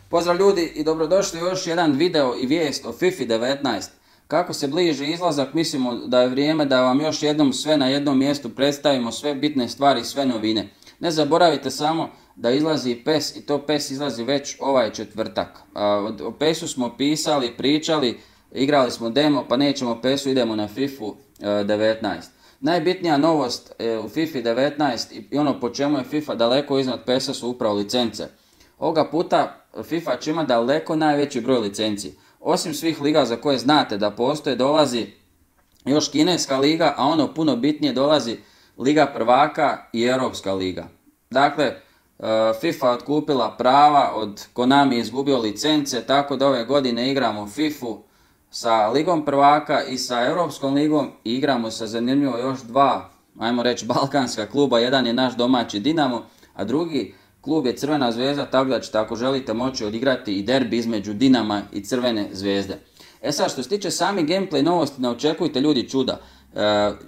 Pozdrav ljudi i dobrodošli u još jedan video i vijest o FIFA 19. Kako se bliži izlazak, mislimo da je vrijeme da vam još jednom sve na jednom mjestu predstavimo sve bitne stvari i sve novine. Ne zaboravite samo da izlazi PES i to PES izlazi već ovaj četvrtak. O PES-u smo pisali, pričali, igrali smo demo, pa nećemo PES-u, idemo na FIFA 19. Najbitnija novost u FIFA 19 i ono po čemu je FIFA daleko iznad PES-a su upravo licence. Ovoga puta FIFA će imati daleko najveći broj licenci. Osim svih liga za koje znate da postoje, dolazi još kineska liga, a ono puno bitnije dolazi Liga prvaka i Europska liga. Dakle, FIFA otkupila prava, od Konami izgubio licence, tako da ove godine igramo FIFA sa Ligom prvaka i sa Europskom ligom i igramo sa zanimljivo još dva, ajmo reći, balkanska kluba. Jedan je naš domaći Dinamo, a drugi klub je Crvena zvezda, tako da ćete ako želite moći odigrati i derbi između Dinama i Crvene zvezde. Sad, što se tiče sami gameplay novosti, ne očekujte ljudi čuda.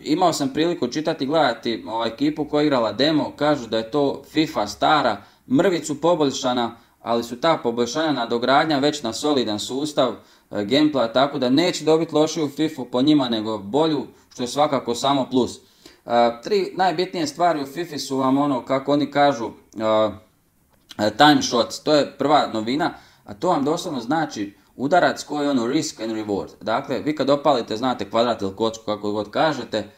Imao sam priliku čitati i gledati ekipu koja je igrala demo, kažu da je to FIFA stara, mrvicu poboljšana, ali su ta poboljšanja nadogradnja već na solidan sustav gameplaya, tako da neće dobiti lošiju FIFA po njima nego bolju, što je svakako samo plus. Tri najbitnije stvari u FIFA su vam ono, kako oni kažu, time shots, to je prva novina, a to vam doslovno znači udarac koji je ono risk and reward. Dakle, vi kad opalite, znate, kvadrat ili kocku, kako god kažete,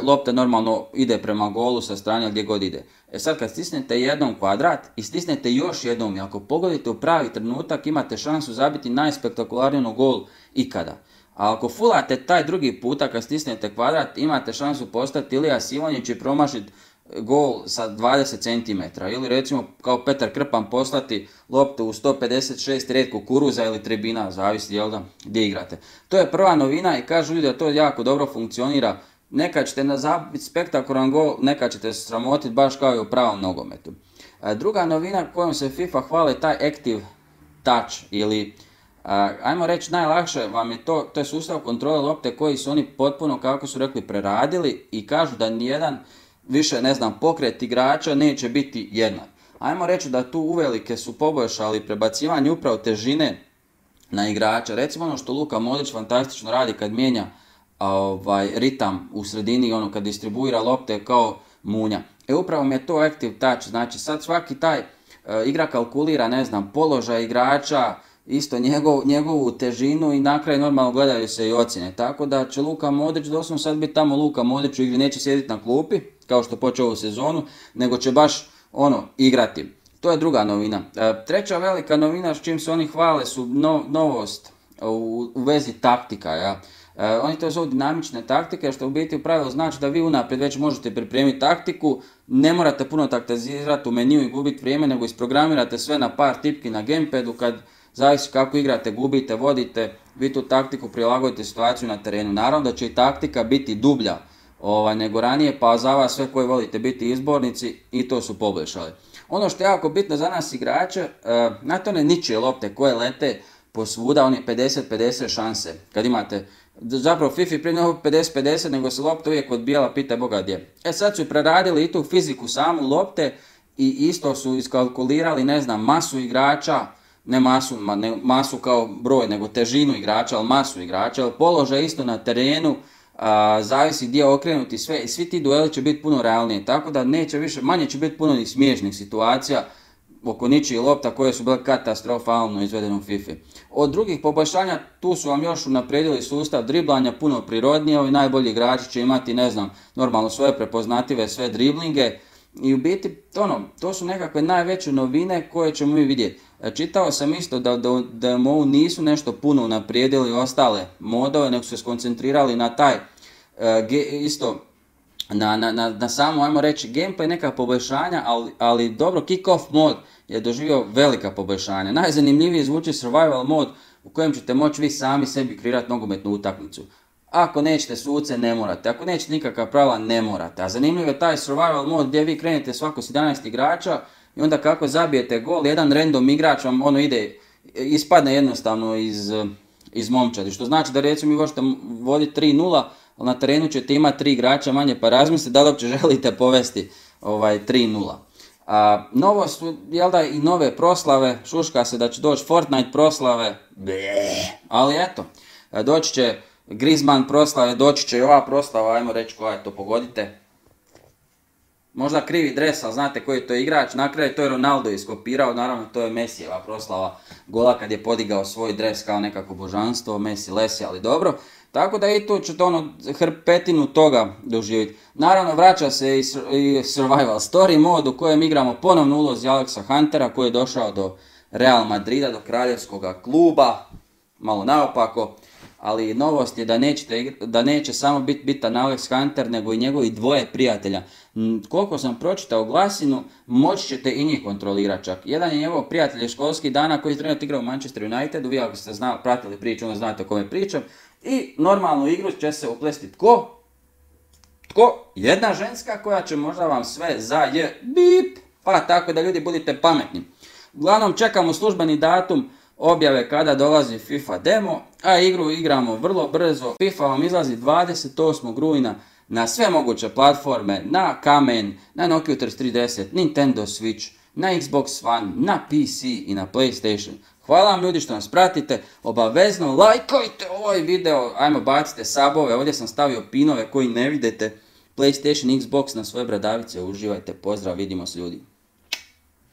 lopta normalno ide prema golu sa strane gdje god ide. Sad kad stisnete jednom kvadrat i stisnete još jednom i ako pogodite u pravi trenutak, imate šansu zabiti najspektakularniju gol ikada. A ako fulate taj drugi puta kad stisnete kvadrat, imate šansu postati Ilija Sivonjić i promašiti gol sa 20 cm. Ili recimo kao Petar Krpan poslati loptu u 156 red kukuruza ili tribina, zavisi jel da, gdje igrate. To je prva novina i kažu ljudi da to jako dobro funkcionira. Nekad ćete zabiti spektakularan gol, nekad ćete se sramotiti baš kao i u pravom nogometu. Druga novina kojom se FIFA hvale je taj Active Touch ili ajmo reći najlakše vam je to je sustav kontrole lopte koji su oni potpuno, kako su rekli, preradili i kažu da nijedan više, ne znam, pokret igrača neće biti jednak. Ajmo reći da tu uvelike su poboljšali prebacivanje upravo težine na igrača. Recimo ono što Luka Modrić fantastično radi kad mijenja ritam u sredini, ono kad distribuira lopte kao munja. Upravo mi je to Active Touch, znači sad svaki taj igra kalkulira, ne znam, položaj igrača, isto njegovu težinu i na kraju normalno gledaju se i ocjene. Tako da će Luka Modrić doslovno sad biti tamo Luka Modrić u igri, neće sjediti na klupi kao što počeo ovu sezonu, nego će baš igrati. To je druga novina. Treća velika novina s čim se oni hvale su novost u vezi taktika. Ja. Oni to zovu dinamične taktike, što u biti u pravilu znači da vi unaprijed već možete pripremiti taktiku, ne morate puno taktizirati u meniju i gubiti vrijeme, nego isprogramirate sve na par tipki na gamepadu, kad zavisi kako igrate, gubite, vodite, vi tu taktiku prilagodite situaciju na terenu. Naravno da će i taktika biti dublja nego ranije, pa za vas sve koji volite biti izbornici i to su poboljšali. Ono što je jako bitno za nas igrače, znate one ničije lopte koje lete posvuda, oni 50-50 šanse. Kad imate, zapravo FIFA prije nego 50-50, nego se lopta uvijek odbijala, pitaj Boga gdje. Sad su preradili i tu fiziku samu lopte i isto su iskalkulirali, ne znam, masu igrača, ne masu kao broj, nego težinu igrača, ali masu igrača, ali položaj isto na terenu, zavisi gdje okrenuti sve i svi ti dueli će biti puno realnije, tako da neće više, manje će biti puno ni smiješnih situacija oko ničijih lopta koje su bile katastrofalno izvedene u FIFA. Od drugih poboljšanja tu su vam još unaprijedili sustav driblanja, puno prirodnije, ovi najbolji igrači će imati, ne znam, normalno svoje prepoznative sve driblinge i u biti to su nekakve najveće novine koje ćemo mi vidjeti. Čitao sam isto da MOU nisu nešto puno unaprijedili ostale modove, nego su se skoncentrirali na taj isto na samo, ajmo reći, gameplay, neka poboljšanja, ali dobro, kick-off mod je doživio velika poboljšanja. Najzanimljiviji zvuči survival mod u kojem ćete moći vi sami sebi kreirati nogometnu utakmicu. Ako nećete suce, ne morate. Ako nećete nikakva pravila, ne morate. A zanimljiv je taj survival mod gdje vi krenete svako s 11 igrača i onda kako zabijete gol, jedan random igrač vam ispadne jednostavno iz momčadi. Što znači da recimo vi možete voditi 3-0, ali na terenu ćete imati 3 igrača manje, pa razmislite da li uopće želite povesti 3-0. Novost su, jel da, i nove proslave, šuška se da će doći Fortnite proslave, ali eto, doći će Griezmann proslave, doći će i ova proslava, ajmo reći koja je to, pogodite. Možda krivi dres, ali znate koji je to igrač, na kraju to je Ronaldo iskopirao, naravno to je Messijeva proslava gola kad je podigao svoj dres kao nekako božanstvo, Messi lesi, ali dobro. Tako da i tu ćete hrpetinu toga doživjeti. Naravno vraća se i Survival Story mod u kojem igramo ponovno ulozi Alexa Huntera koji je došao do Real Madrida, do kraljevskog kluba, malo naopako. Ali novost je da neće samo biti bitan Alex Hunter, nego i njegovi dvoje prijatelja. Koliko sam pročitao glasinu, moći ćete i njih kontrolirati čak. Jedan je njegov prijatelj školskih dana koji je trenutno igrao u Manchester Unitedu, vi ako ste pratili priču, onda znate o kome pričam. I normalnu igru će se uplesti tko? Jedna ženska koja će možda vam sve bip, pa tako da ljudi budite pametni. Uglavnom čekamo službeni datum objave kada dolazi FIFA demo, a igru igramo vrlo brzo. FIFA vam izlazi 28. rujna na sve moguće platforme, na kamen, na Nokia 3310, Nintendo Switch, na Xbox One, na PC i na PlayStation. Hvala vam ljudi što nas pratite, obavezno lajkajte ovaj video, ajmo bacite sabove, ovdje sam stavio pinove koji ne vidite, PlayStation, Xbox na svoje bradavice, uživajte, pozdrav, vidimo se ljudi.